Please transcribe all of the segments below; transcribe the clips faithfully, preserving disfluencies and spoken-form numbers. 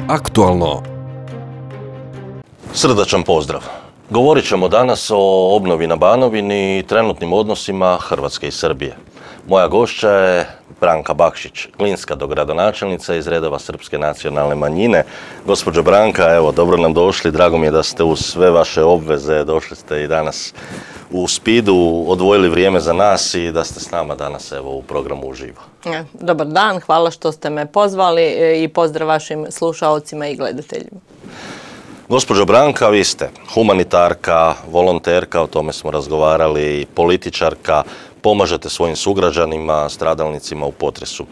Aktualno. Srdačan pozdrav. Govorit ćemo danas o obnovi na Banovini i trenutnim odnosima Hrvatske i Srbije. Moja gošća je Branka Bakšić, glinska dogradonačelnica iz redova Srpske nacionalne manjine. Gospođo Branka, evo, dobro nam došli. Drago mi je da ste uz sve vaše obveze došli ste i danas u Spidu, odvojili vrijeme za nas i da ste s nama danas evo u programu uživo. Dobar dan, hvala što ste me pozvali i pozdrav vašim slušaocima i gledateljima. Gospođo Branka, vi ste humanitarka, volonterka, o tome smo razgovarali, političarka, pomažete svojim sugrađanima, stradalnicima u potresu.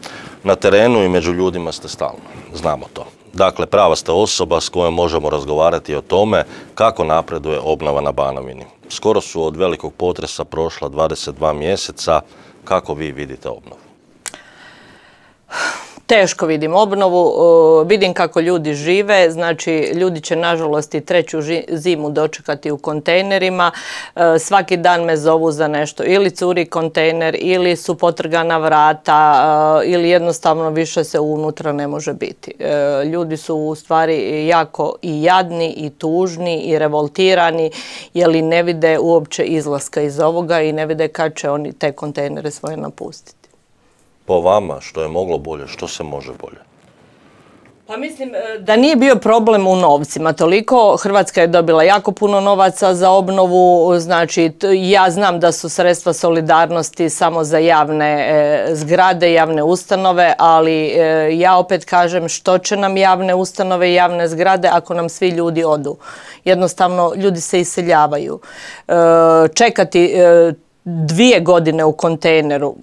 Na terenu i među ljudima ste stalno, znamo to. Dakle, prava ste osoba s kojom možemo razgovarati o tome kako napreduje obnova na Banovini. Skoro su od velikog potresa prošla dvadeset dva mjeseca. Kako vi vidite obnovu? Teško vidim obnovu, vidim kako ljudi žive, znači ljudi će nažalost i treću zimu dočekati u kontejnerima. Svaki dan me zovu za nešto, ili curi kontejner, ili su potrgana vrata, ili jednostavno više se unutra ne može biti. Ljudi su u stvari jako i jadni, i tužni, i revoltirani, jer ne vide uopće izlaska iz ovoga i ne vide kad će oni te kontejnere svoje napustiti. Po vama, što je moglo bolje, što se može bolje? Pa mislim da nije bio problem u novcima toliko. Hrvatska je dobila jako puno novaca za obnovu, znači ja znam da su sredstva solidarnosti samo za javne e, zgrade, javne ustanove, ali e, ja opet kažem što će nam javne ustanove i javne zgrade ako nam svi ljudi odu. Jednostavno ljudi se iseljavaju. E, čekati e, dvije godine u kontejneru,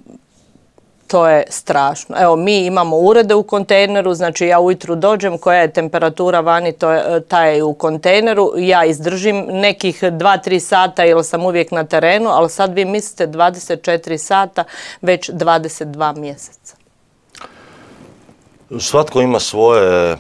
to je strašno. Evo, mi imamo urede u kontejneru, znači ja ujutru dođem, koja je temperatura vani, to je, ta je u kontejneru, ja izdržim nekih dva do tri sata jer sam uvijek na terenu, ali sad vi mislite dvadeset četiri sata, već dvadeset dva mjeseca. Svatko ima svoje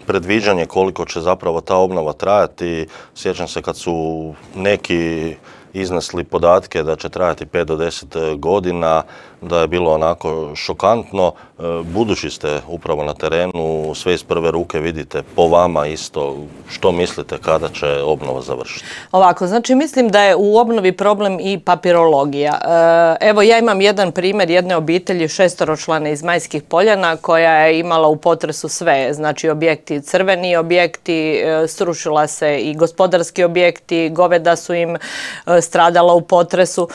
predviđanje koliko će zapravo ta obnova trajati. Sjećam se kad su neki iznesli podatke da će trajati pet do deset godina, da je bilo onako šokantno. Budući ste upravo na terenu, sve iz prve ruke vidite, po vama isto, što mislite kada će obnova završiti? Ovako, znači mislim da je u obnovi problem i papirologija. Evo, ja imam jedan primjer jedne obitelji šestoročlane iz Majskih Poljana koja je imala u potresu sve, znači objekti, crveni objekti, srušila se i gospodarski objekti, goveda su im stradala u potresu.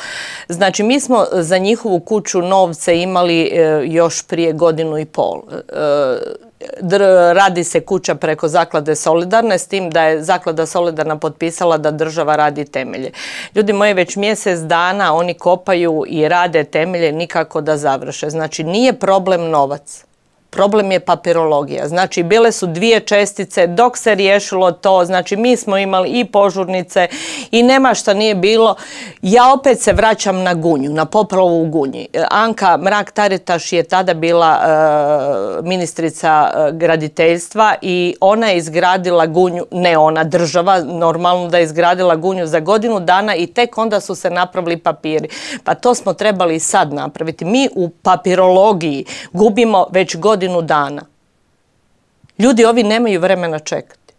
Znači mi smo za njihovu kuću novce imali još prije godinu i pol. Radi se kuća preko Zaklade Solidarne, s tim da je Zaklada Solidarna potpisala da država radi temelje. Ljudi moji, već mjesec dana oni kopaju i rade temelje, nikako da završe. Znači nije problem novac. Problem je papirologija. Znači, bile su dvije čestice dok se riješilo to. Znači, mi smo imali i požurnice i nema šta nije bilo. Ja opet se vraćam na Gunju, na poplavu u Gunji. Anka Mrak-Taritaš je tada bila e, ministrica graditeljstva i ona je izgradila Gunju, ne ona, država, normalno da je izgradila Gunju za godinu dana i tek onda su se napravili papiri. Pa to smo trebali i sad napraviti. Mi u papirologiji gubimo već godinu dana. Ljudi ovi nemaju vremena čekati.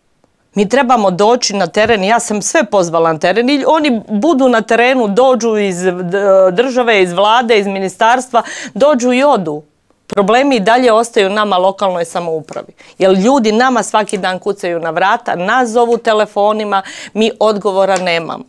Mi trebamo doći na teren, ja sam sve pozvala na teren i oni budu na terenu, dođu iz države, iz vlade, iz ministarstva, dođu i odu. Problemi i dalje ostaju nama lokalnoj samoupravi. Jer ljudi nama svaki dan kucaju na vrata, nas zovu telefonima, mi odgovora nemamo.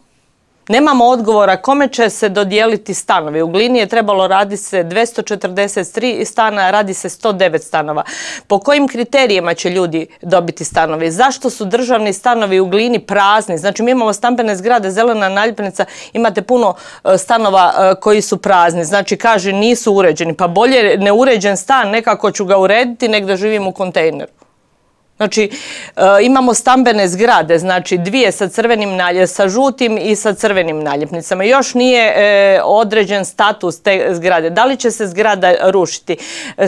Nemamo odgovora kome će se dodijeliti stanovi. U Glini je trebalo radi se dvjesto četrdeset tri stana, radi se sto devet stanova. Po kojim kriterijima će ljudi dobiti stanovi? Zašto su državni stanovi u Glini prazni? Znači mi imamo stambene zgrade, zelena naljepnica, imate puno stanova koji su prazni. Znači kaže nisu uređeni. Pa bolje neuređen stan, nekako ću ga urediti nek da živim u kontejneru. Znači, e, imamo stambene zgrade, znači dvije sa crvenim naljepnicama, sa žutim i sa crvenim naljepnicama. Još nije e, određen status te zgrade. Da li će se zgrada rušiti?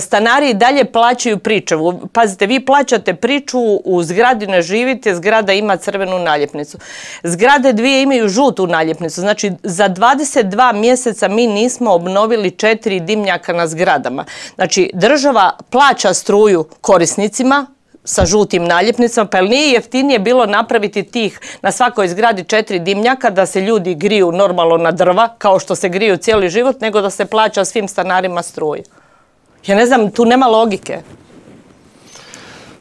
Stanari i dalje plaćaju pričuvu. Pazite, vi plaćate pričuvu, u zgradi ne živite, zgrada ima crvenu naljepnicu. Zgrade dvije imaju žutu naljepnicu. Znači, za dvadeset dva mjeseca mi nismo obnovili četiri dimnjaka na zgradama. Znači, država plaća struju korisnicima, sa žutim naljepnicama, pa jel nije jeftinije bilo napraviti tih na svakoj zgradi četiri dimnjaka da se ljudi griju normalno na drva, kao što se griju cijeli život, nego da se plaća svim stanarima struju? Ja ne znam, tu nema logike.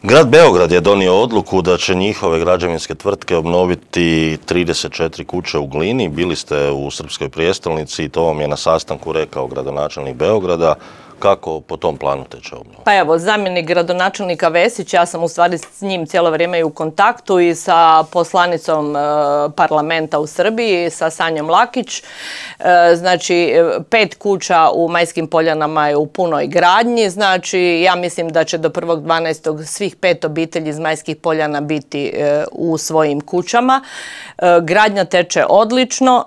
Grad Beograd je donio odluku da će njihove građevinske tvrtke obnoviti trideset četiri kuće u Glini. Bili ste u Srpskoj prijestolnici i to vam je na sastanku rekao gradonačelnik Beograda. Kako po tom planu teče obnova? Pa evo, zamjenik gradonačelnika Vesić, ja sam u stvari s njim cijelo vrijeme i u kontaktu i sa poslanicom e, parlamenta u Srbiji, sa Sanjom Lakić. E, znači, pet kuća u Majskim Poljanama je u punoj gradnji. Znači, ja mislim da će do prvog dvanaestog svih pet obitelji iz Majskih Poljana biti e, u svojim kućama. E, gradnja teče odlično,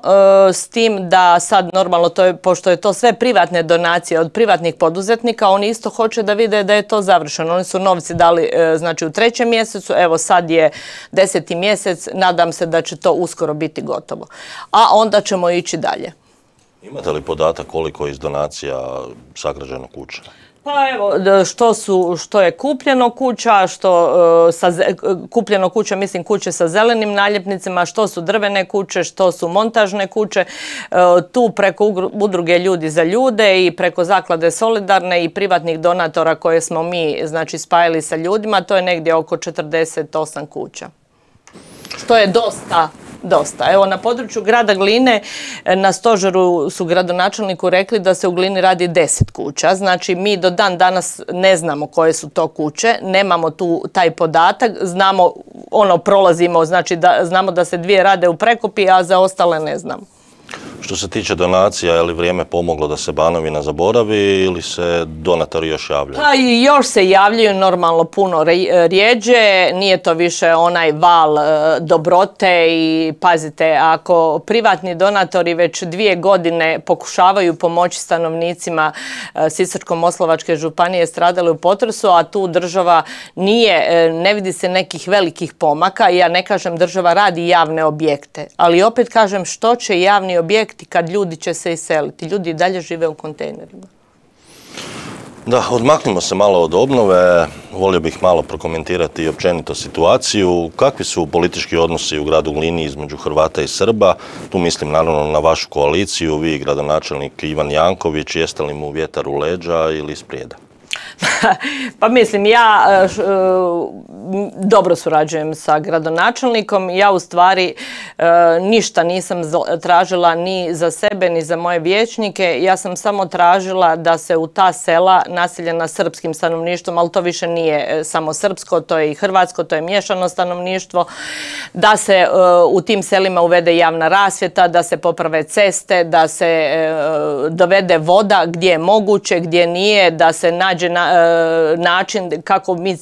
e, s tim da sad normalno, to je, pošto je to sve privatne donacije od privatnih poduzetnika, oni isto hoće da vide da je to završeno. Oni su novci dali znači u trećem mjesecu, evo sad je deseti mjesec, nadam se da će to uskoro biti gotovo. A onda ćemo ići dalje. Imate li podatak koliko je iz donacija sagrađeno kuća? Pa evo, što, su, što je kupljeno kuća, što sa, kupljeno kuća, mislim kuće sa zelenim naljepnicama, što su drvene kuće, što su montažne kuće. Tu preko udruge Ljudi za ljude i preko zaklade Solidarne i privatnih donatora koje smo mi znači, spajali sa ljudima, to je negdje oko četrdeset osam kuća. Što je dosta. Dosta. Evo, na području grada Gline na stožeru su gradonačelniku rekli da se u Glini radi deset kuća. Znači, mi do dan danas ne znamo koje su to kuće, nemamo tu taj podatak, znamo, ono, prolazimo, znači da, znamo da se dvije rade u Prekopi, a za ostale ne znamo. Što se tiče donacija, je li vrijeme pomoglo da se Banovina zaboravi ili se donatori još javljaju? Pa i još se javljaju normalno puno rijeđe, nije to više onaj val dobrote i pazite, ako privatni donatori već dvije godine pokušavaju pomoći stanovnicima Sisačko-moslavačke županije stradali u potresu, a tu država nije, ne vidi se nekih velikih pomaka, ja ne kažem država radi javne objekte, ali opet kažem što će javni objekti kad ljudi će se iseliti. Ljudi i dalje žive u kontejnerima. Da, odmaknimo se malo od obnove. Volio bih malo prokomentirati i općenito situaciju. Kakvi su politički odnosi u gradu Glini između Hrvata i Srba? Tu mislim naravno na vašu koaliciju, vi gradonačelnik Ivan Janković, jeste li mu vjetar u leđa ili isprijeda? Pa mislim, ja dobro surađujem sa gradonačelnikom. Ja u stvari ništa nisam tražila ni za sebe, ni za moje vijećnike. Ja sam samo tražila da se u ta sela naseljena srpskim stanovništvom, ali to više nije samo srpsko, to je i hrvatsko, to je miješano stanovništvo, da se u tim selima uvede javna rasvjeta, da se poprave ceste, da se dovede voda gdje je moguće, gdje nije, da se nađe na način kako mi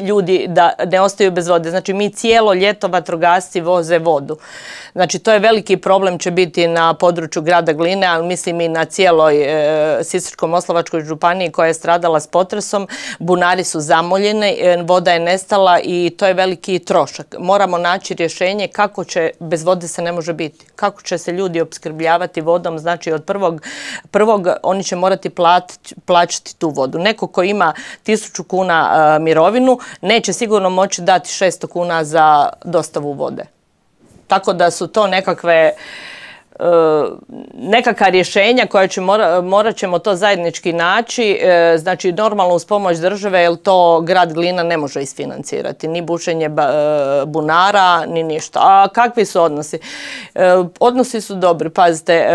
ljudi da ne ostaju bez vode. Znači mi cijelo ljeto vatrogasci voze vodu. Znači to je veliki problem će biti na području grada Gline, ali mislim i na cijeloj e, Sisačko-moslavačkoj županiji koja je stradala s potresom. Bunari su zamoljeni, e, voda je nestala i to je veliki trošak. Moramo naći rješenje kako će, bez vode se ne može biti, kako će se ljudi opskrbljavati vodom, znači od prvog, prvog oni će morati plati, plaćati tu vodu. Neko ko ima tisuću kuna a, mirovinu neće sigurno moći dati šesto kuna za dostavu vode. Tako da su to nekakve nekakva rješenja koja će mora, morat ćemo to zajednički naći, znači normalno uz pomoć države, jer to grad Glina ne može isfinancirati, ni bušenje bunara, ni ništa. A kakvi su odnosi? Odnosi su dobri, pazite,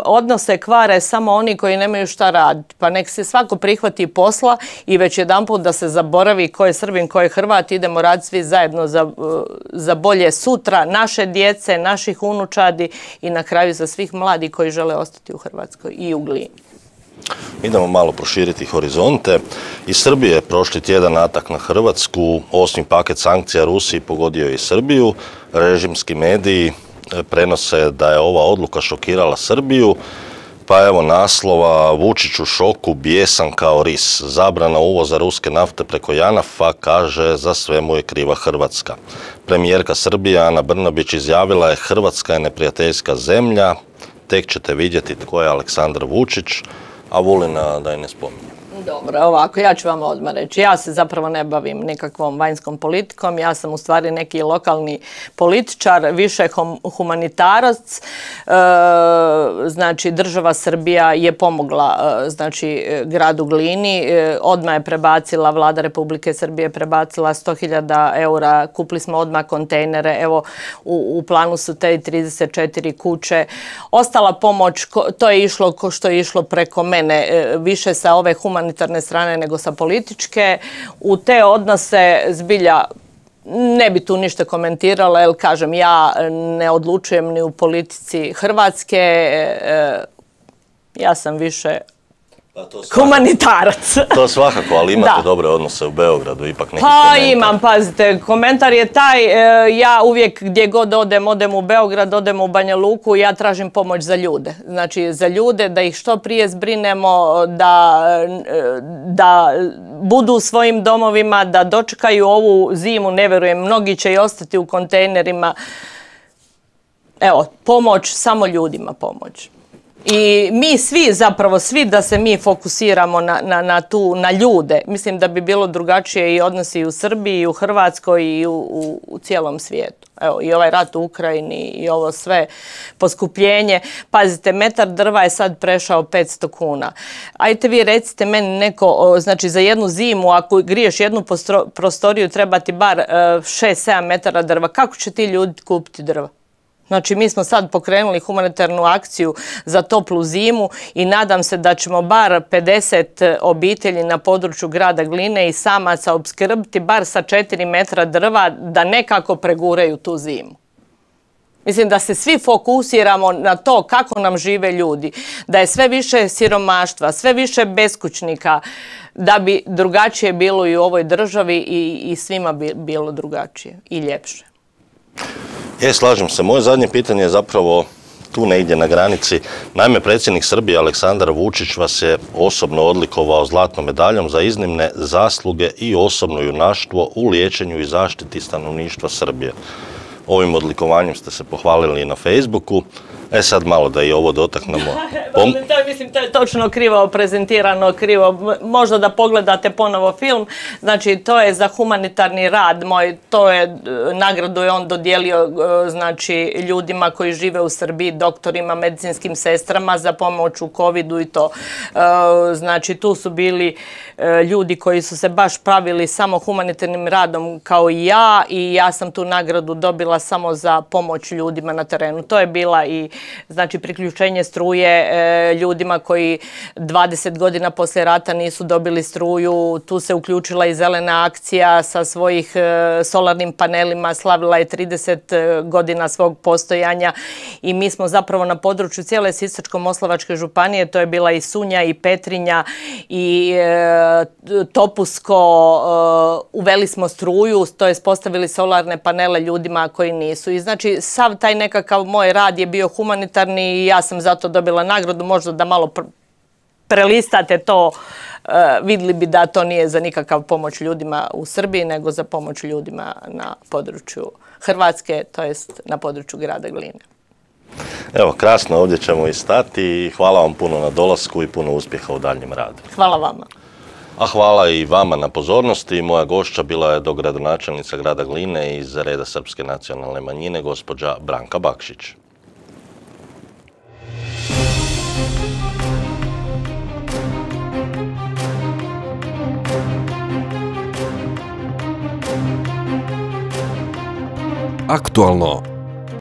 odnose kvare samo oni koji nemaju šta raditi, pa nek se svako prihvati posla i već jedanput da se zaboravi ko je Srbin, ko je Hrvat, idemo raditi svi zajedno za, za bolje sutra naše djece, naših unučadi i na kraju za svih mladih koji žele ostati u Hrvatskoj i u Glini. Idemo malo proširiti horizonte. Iz Srbije prošli tjedan atak na Hrvatsku, osmi paket sankcija Rusiji pogodio i Srbiju. Režimski mediji prenose da je ova odluka šokirala Srbiju. Pa evo naslova, Vučić u šoku, bijesan kao ris. Zabrana uvoza ruske nafte preko Janafa, kaže, za sve mu je kriva Hrvatska. Premijerka Srbije Ana Brnabić izjavila je Hrvatska je neprijateljska zemlja, tek ćete vidjeti tko je Aleksandar Vučić, a Vulina da je ne spominje. Dobro, ovako, ja ću vam odmah reći. Ja se zapravo ne bavim nikakvom vanjskom politikom, ja sam u stvari neki lokalni političar, više humanitarac. E, znači, država Srbija je pomogla e, znači, gradu Glini, e, odmah je prebacila, vlada Republike Srbije prebacila sto hiljada eura, kupili smo odmah kontejnere, evo u, u planu su te trideset četiri kuće. Ostala pomoć, to je išlo ko što je išlo preko mene, e, više sa ove humanitarne strane nego sa političke. U te odnose zbilja ne bi tu ništa komentirala, jer kažem, ja ne odlučujem ni u politici Hrvatske, e, ja sam više humanitarac. To svakako, ali imate dobre odnose u Beogradu, ipak neki Pa komentar. Imam, pazite, komentar je taj, e, ja uvijek gdje god odem, odem u Beograd, odem u Banja Luku, ja tražim pomoć za ljude. Znači za ljude, da ih što prije zbrinemo, da, da budu u svojim domovima, da dočekaju ovu zimu, ne vjerujem, mnogi će i ostati u kontejnerima. Evo, pomoć, samo ljudima pomoć. I mi svi, zapravo svi da se mi fokusiramo na, na, na, tu, na ljude, mislim da bi bilo drugačije i odnosi i u Srbiji, i u Hrvatskoj i u, u, u cijelom svijetu. Evo, i ovaj rat u Ukrajini i ovo sve poskupljenje. Pazite, metar drva je sad prešao petsto kuna. Ajte vi recite meni neko, znači za jednu zimu, ako griješ jednu postro, prostoriju, treba ti bar šest sedam metara drva. Kako će ti ljudi kupiti drva? Znači, mi smo sad pokrenuli humanitarnu akciju za toplu zimu i nadam se da ćemo bar pedeset obitelji na području grada Gline i samaca opskrbiti bar sa četiri metra drva da nekako preguraju tu zimu. Mislim da se svi fokusiramo na to kako nam žive ljudi, da je sve više siromaštva, sve više beskućnika, da bi drugačije bilo i u ovoj državi i, i svima bi bilo drugačije i ljepše. E, slažem se. Moje zadnje pitanje je zapravo tu negdje na granici. Naime, predsjednik Srbije Aleksandar Vučić vas je osobno odlikovao zlatnom medaljom za iznimne zasluge i osobno junaštvo u liječenju i zaštiti stanovništva Srbije. Ovim odlikovanjem ste se pohvalili i na Facebooku. E sad malo da i ovo dotaknemo. Pom... to, mislim, to je točno krivo prezentirano, krivo. Možda da pogledate ponovo film. Znači, to je za humanitarni rad moj, to je nagradu je on dodijelio znači, ljudima koji žive u Srbiji, doktorima, medicinskim sestrama za pomoć u covidu i to. Znači, tu su bili ljudi koji su se baš pravili samo humanitarnim radom kao i ja i ja sam tu nagradu dobila samo za pomoć ljudima na terenu. To je bila i znači priključenje struje e, ljudima koji dvadeset godina poslije rata nisu dobili struju. Tu se uključila i zelena akcija sa svojih e, solarnim panelima, slavila je trideset godina svog postojanja i mi smo zapravo na području cijele Sisačko-moslavačke županije, to je bila i Sunja i Petrinja i e, Topusko, e, uveli smo struju, to je postavili solarne panele ljudima koji nisu. I znači sav taj nekakav moj rad je bio humanitarni i ja sam zato dobila nagradu, možda da malo pr prelistate to, uh, vidjeli bi da to nije za nikakav pomoć ljudima u Srbiji, nego za pomoć ljudima na području Hrvatske, to jest na području grada Gline. Evo, krasno, ovdje ćemo i stati i hvala vam puno na dolasku i puno uspjeha u daljnjem radu. Hvala vama. A hvala i vama na pozornosti. Moja gošća bila je dogradonačelnica grada Gline iz reda Srpske nacionalne manjine, gospođa Branka Bakšić. Aktualno